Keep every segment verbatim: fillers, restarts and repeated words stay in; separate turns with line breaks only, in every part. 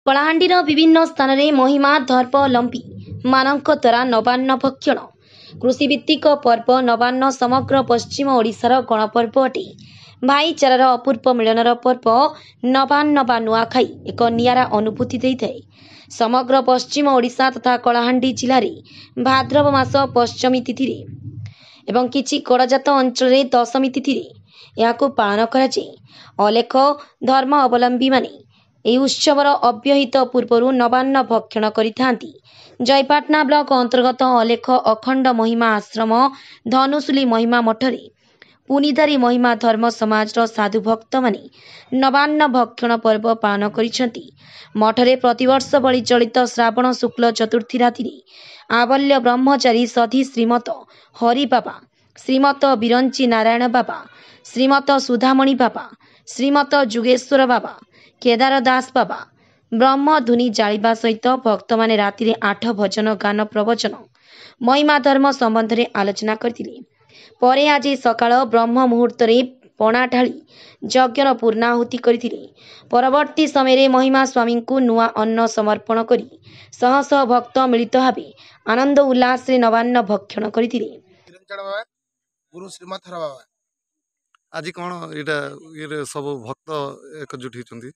କଳାହାଣ୍ଡିର ବିଭିନ୍ନ ସ୍ଥାନରେ ମହିମା ଧର୍ମାବଲମ୍ବୀ ମାନଙ୍କ ଦ୍ୱାରା ନବାନ୍ନ ଭକ୍ଷଣ। କୃଷିଭିତ୍ତିକ ପର୍ବ ନବାନ୍ନ ସମଗ୍ର ପଶ୍ଚିମ ଓଡ଼ିଶାର ଗଣପର୍ବ ଅଟେ। ଭାଇଚାରାର ଅପୂର୍ବ ମିଳନର ପର୍ବ ନବାନ୍ନ ବା ନୂଆଖାଇ ଏକ ନିଆରା ଅନୁଭୂତି ଦେଇଥାଏ। ସମଗ୍ର ପଶ୍ଚିମ ଓଡ଼ିଶା ତଥା କଳାହାଣ୍ଡି ଜିଲ୍ଲାରେ ଭାଦ୍ରବ ମାସ ପଞ୍ଚମୀ ତିଥିରେ ଏବଂ କିଛି ଗଡ଼ଜାତ ଅଞ୍ଚଳରେ ଦଶମୀ ତିଥିରେ ଏହାକୁ ପାଳନ କରାଯାଏ। ଅଲେଖ ଧର୍ମ ଅବଲମ୍ବୀମାନେ ଏହି ଉତ୍ସବର ଅବ୍ୟବହିତ ପୂର୍ବରୁ ନବାନ୍ନ ଭକ୍ଷଣ କରିଥାନ୍ତି। ଜୟପାଟଣା ବ୍ଲକ ଅନ୍ତର୍ଗତ ଅଲେଖ ଅଖଣ୍ଡ ମହିମା ଆଶ୍ରମ ଧନୁଶୁଲି ମହିମା ମଠରେ ପୁନିଧାରୀ ମହିମା ଧର୍ମ ସମାଜର ସାଧୁ ଭକ୍ତମାନେ ନବାନ୍ନ ଭକ୍ଷଣ ପର୍ବ ପାଳନ କରିଛନ୍ତି। ମଠରେ ପ୍ରତିବର୍ଷ ଭଳି ଚଳିତ ଶ୍ରାବଣ ଶୁକ୍ଲ ଚତୁର୍ଥୀ ରାତିରେ ଆବଲ୍ୟ ବ୍ରହ୍ମଚାରୀ ସଧି ଶ୍ରୀମତ ହରି ବାବା, ଶ୍ରୀମତ ବିରଞ୍ଚି ନାରାୟଣ ବାବା, ଶ୍ରୀମତ ସୁଧାମଣି ବାବା, ଶ୍ରୀମତ ଯୁଗେଶ୍ୱର ବାବା, କେଦାର ଦାସ ବାବା ବ୍ରହ୍ମଧୁନି ଜାଳିବା ସହିତ ଭକ୍ତମାନେ ରାତିରେ ଆଠ ଭଜନ ଗାନ, ପ୍ରବଚନ, ମହିମା ଧର୍ମ ସମ୍ବନ୍ଧରେ ଆଲୋଚନା କରିଥିଲେ। ପରେ ଆଜି ସକାଳ ବ୍ରହ୍ମ ମୁହୂର୍ତ୍ତରେ ପଣା ଢାଳି ଯଜ୍ଞର ପୂର୍ଣ୍ଣାହୁତି କରିଥିଲେ। ପରବର୍ତ୍ତୀ ସମୟରେ ମହିମା ସ୍ୱାମୀଙ୍କୁ ନୂଆ ଅନ୍ନ ସମର୍ପଣ କରି ଶହ ଶହ ଭକ୍ତ ମିଳିତ ଭାବେ ଆନନ୍ଦ ଉଲ୍ଲାସରେ ନବାନ୍ନ ଭକ୍ଷଣ କରିଥିଲେ।
ବିରଞ୍ଜନ ବାବା, ଗୁରୁ ଶ୍ରୀମଥର ବାବା।
ଆଜି କ'ଣ ଏଇଟା ଇଏରେ ସବୁ ଭକ୍ତ ଏକଜୁଟ ହେଇଛନ୍ତି?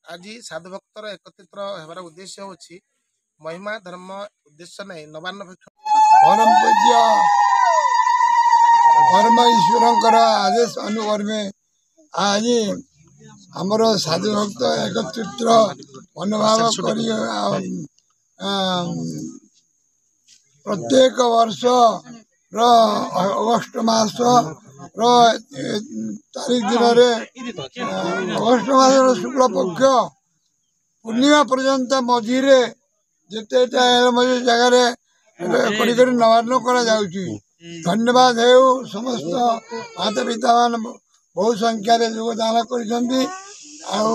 ଆଜି ସାଧୁ ଭକ୍ତର ଏକତ୍ରିତ ହେବାର ଉଦ୍ଦେଶ୍ୟ ହେଉଛି ମହିମା ଧର୍ମ ଉଦ୍ଦେଶ୍ୟ ନେଇ ନବାନ୍ନ ଭକ୍ଷଣ।
ପରମ ପୂଜ୍ୟ ପରମ ଈଶ୍ୱରଙ୍କର ଆଦେଶ ଅନୁକର୍ମେ ଆଜି ଆମର ସାଧୁ ଭକ୍ତ ଏକତ୍ରିତ ମନୋଭାବ କରି ପ୍ରତ୍ୟେକ ବର୍ଷର ଅଗଷ୍ଟ ମାସର ତାରିଖ ଦିନରେ, ଅଗଷ୍ଟ ମାସର ଶୁକ୍ଳ ପକ୍ଷ ପୂର୍ଣ୍ଣିମା ପର୍ଯ୍ୟନ୍ତ ମଝିରେ ଯେତେଟା ମଝି ଜାଗାରେ କରି କରି ନବାନ୍ନ କରାଯାଉଛି। ଧନ୍ୟବାଦ ହେଉ, ସମସ୍ତ ମାତା ପିତାମାନେ ବହୁ ସଂଖ୍ୟାରେ ଯୋଗଦାନ କରିଛନ୍ତି ଆଉ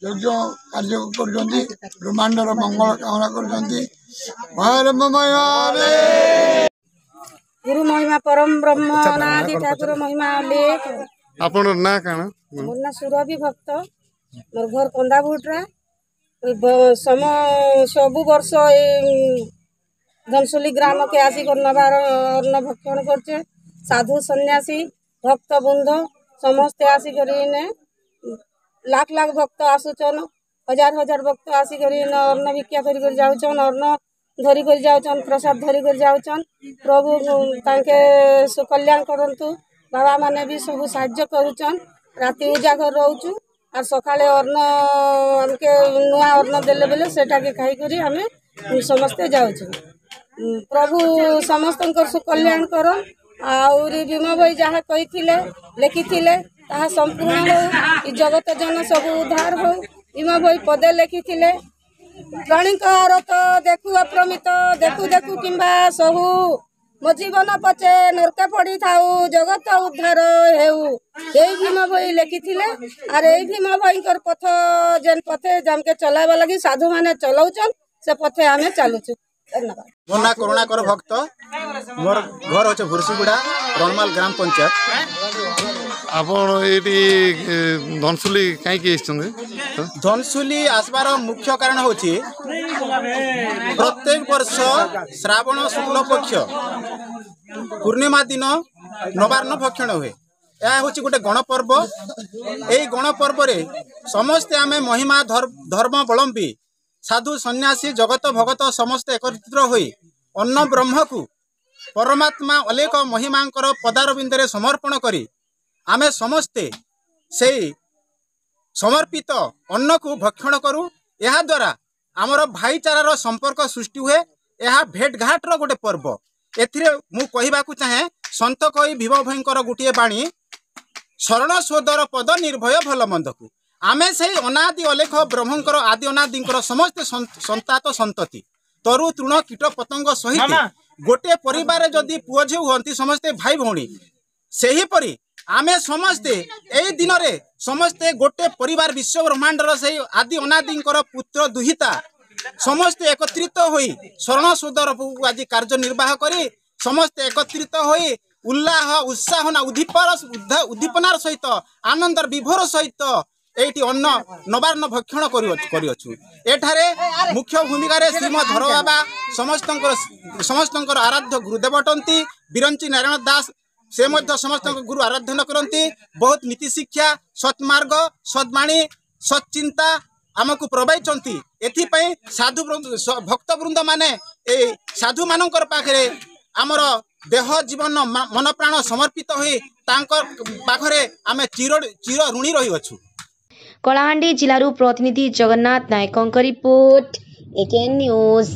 ଯଜ୍ଞ କାର୍ଯ୍ୟ କରୁଛନ୍ତି, ବ୍ରହ୍ମାଣ୍ଡର ମଙ୍ଗଳ କାମନା କରୁଛନ୍ତି। ମହିମାରେ
ଗୁରୁ ମହିମା ପରମ ବ୍ରହ୍ମ ଅନାଦି ଠାକୁର ମହିମା ଅଲେଖ।
ଆପଣଙ୍କ ନାଁ କାଣା?
ମୋର ନାଁ ସୁରଭି ଭକ୍ତ, ମୋର ଘର କନ୍ଦାଭୁଟରା। ସମ ସବୁ ବର୍ଷ ଏ ଧନସୁଲି ଗ୍ରାମକେ ଆସିକରି ନବାର ଅନ୍ନ ଭକ୍ଷଣ କରୁଛେ। ସାଧୁ ସନ୍ନ୍ୟାସୀ ଭକ୍ତ ବୃନ୍ଦ ସମସ୍ତେ ଆସିକରି ଇନେ, ଲାଖ ଲାଖ ଭକ୍ତ ଆସୁଛନ୍, ହଜାର ହଜାର ଭକ୍ତ ଆସିକରି ଇନେ ଅନ୍ନ ଭିକ୍ଷା କରି କରି ଯାଉଛନ୍, ଅନ୍ନ ଧରି କରି ଯାଉଛନ୍, ପ୍ରସାଦ ଧରି କରି ଯାଉଛନ୍। ପ୍ରଭୁ ତାଙ୍କେ ସୁକଲ୍ୟାଣ କରନ୍ତୁ। ବାବାମାନେ ବି ସବୁ ସାହାଯ୍ୟ କରୁଛନ୍। ରାତି ଉଜାଗର ରହୁଛୁ ଆର୍ ସକାଳେ ଅନ୍ନ ଆମକେ ନୂଆ ଅନ୍ନ ଦେଲେ ବେଲେ ସେଟାକେ ଖାଇକରି ଆମେ ସମସ୍ତେ ଯାଉଛୁ। ପ୍ରଭୁ ସମସ୍ତଙ୍କର ସୁକଲ୍ୟାଣ କର। ଆହୁରି ଭୀମ ଭୋଇ ଯାହା କହିଥିଲେ, ଲେଖିଥିଲେ, ତାହା ସମ୍ପୂର୍ଣ୍ଣ ହଉ, ଏ ଜଗତ ଜନ ସବୁ ଉଦ୍ଧାର ହଉ। ଭୀମ ଭୋଇ ପଦେ ଲେଖିଥିଲେ, ପ୍ରାଣୀଙ୍କ ରତ ଦେଖୁ ଅପ୍ରମିତ, ଦେଖୁ ଦେଖୁ କିମ୍ବା ସହୁ, ମୋ ଜୀବନ ପଛେ ନର୍କେ ପଡ଼ିଥାଉ, ଜଗତ ଉଦ୍ଧାର ହେଉ। ଏଇ ଭୀମ ଭୋଇ ଲେଖିଥିଲେ। ଆର୍ ଏଇ ଭୀମ ଭୋଇଙ୍କର ପଥ ଯେନ୍ ପଥେ ଆମକେ ଚଲାଇବା ଲାଗି ସାଧୁମାନେ ଚଲଉଛନ୍, ସେ ପଥେ ଆମେ ଚାଲୁଛୁ। ଧନ୍ୟବାଦ।
ମୋ ନାଁ କରୁଣାକର ଭକ୍ତ, ମୋର ଘର ହେଉଛି ଭୁରସିଗୁଡ଼ା, ରଣମାଲ ଗ୍ରାମ ପଞ୍ଚାୟତ।
ଆପଣ ଏଇଠି ଧନସୁଲି କାହିଁକି ଆସିଛନ୍ତି?
ଧନସୁଲି ଆସିବାର ମୁଖ୍ୟ କାରଣ ହେଉଛି, ପ୍ରତ୍ୟେକ ବର୍ଷ ଶ୍ରାବଣ ଶୁକ୍ଳ ପକ୍ଷ ପୂର୍ଣ୍ଣିମା ଦିନ ନବାନ୍ନ ଭକ୍ଷଣ ହୁଏ। ଏହା ହେଉଛି ଗୋଟେ ଗଣପର୍ବ। ଏଇ ଗଣପର୍ବରେ ସମସ୍ତେ ଆମେ ମହିମା ଧର୍ମାବଲମ୍ବୀ ସାଧୁ ସନ୍ନ୍ୟାସୀ ଜଗତ ଭଗତ ସମସ୍ତେ ଏକତ୍ରିତ ହୋଇ ଅନ୍ନ ବ୍ରହ୍ମକୁ ପରମାତ୍ମା ଅଲେଖ ମହିମାଙ୍କର ପଦାରବିନ୍ଦରେ ସମର୍ପଣ କରି ଆମେ ସମସ୍ତେ ସେଇ ସମର୍ପିତ ଅନ୍ନକୁ ଭକ୍ଷଣ କରୁ। ଏହାଦ୍ୱାରା ଆମର ଭାଇଚାରାର ସମ୍ପର୍କ ସୃଷ୍ଟି ହୁଏ। ଏହା ଭେଟଘାଟର ଗୋଟେ ପର୍ବ। ଏଥିରେ ମୁଁ କହିବାକୁ ଚାହେଁ ସନ୍ଥ କବି ଭୀମ ଭୋଇଙ୍କର ଗୋଟିଏ ବାଣୀ, ଶରଣ ସୋଦର ପଦ ନିର୍ଭୟ ଭଲ ମନ୍ଦକୁ। ଆମେ ସେଇ ଅନାଦି ଅଲେଖ ବ୍ରହ୍ମଙ୍କର ଆଦି ଅନାଦିଙ୍କର ସମସ୍ତେ ସନ୍ତାତ ସନ୍ତତି, ତରୁ ତୃଣ କୀଟ ପତଙ୍ଗ ସହିତ ଗୋଟିଏ ପରିବାରରେ ଯଦି ପୁଅ ଝିଅ ହୁଅନ୍ତି ସମସ୍ତେ ଭାଇ ଭଉଣୀ, ସେହିପରି ଆମେ ସମସ୍ତେ ଏଇ ଦିନରେ ସମସ୍ତେ ଗୋଟେ ପରିବାର, ବିଶ୍ୱ ବ୍ରହ୍ମାଣ୍ଡର ସେଇ ଆଦି ଅନାଦିଙ୍କର ପୁତ୍ର ଦୁହିତା ସମସ୍ତେ ଏକତ୍ରିତ ହୋଇ ଶରଣ ସୋଦର ଆଜି କାର୍ଯ୍ୟ ନିର୍ବାହ କରି ସମସ୍ତେ ଏକତ୍ରିତ ହୋଇ ଉଲ୍ଲାହ ଉତ୍ସାହ ନା ଉଦ୍ଦୀପର ଉଦ୍ଦୀପନାର ସହିତ, ଆନନ୍ଦର ବିଭୋର ସହିତ ଏଇଠି ଅନ୍ନ ନବାନ୍ନ ଭକ୍ଷଣ କରିଅଛୁ। ଏଠାରେ ମୁଖ୍ୟ ଭୂମିକାରେ ଶ୍ରୀମଦ୍ ଧର ବାବା ସମସ୍ତଙ୍କର ସମସ୍ତଙ୍କର ଆରାଧ୍ୟ ଗୁରୁଦେବ ଅଟନ୍ତି। ବିରଞ୍ଚି ନାରାୟଣ ଦାସ ସେ ମଧ୍ୟ ସମସ୍ତଙ୍କ ଗୁରୁ ଆରାଧନା କରନ୍ତି। ବହୁତ ନୀତି ଶିକ୍ଷା, ସତ୍ମାର୍ଗ, ସଦ୍ବାଣୀ, ସତ୍ଚିନ୍ତା ଆମକୁ ପ୍ରବାଇଛନ୍ତି। ଏଥିପାଇଁ ସାଧୁ ଭକ୍ତ ବୃନ୍ଦ ମାନେ ଏଇ ସାଧୁମାନଙ୍କର ପାଖରେ ଆମର ଦେହ ଜୀବନ ମନ ପ୍ରାଣ ସମର୍ପିତ ହୋଇ ତାଙ୍କ ପାଖରେ ଆମେ ଚିର ଚିର ଋଣୀ ରହିଅଛୁ।
କଳାହାଣ୍ଡି ଜିଲ୍ଲାରୁ ପ୍ରତିନିଧି ଜଗନ୍ନାଥ ନାୟକଙ୍କ ରିପୋର୍ଟ, ଏକେଏନ୍ ନ୍ୟୁଜ୍।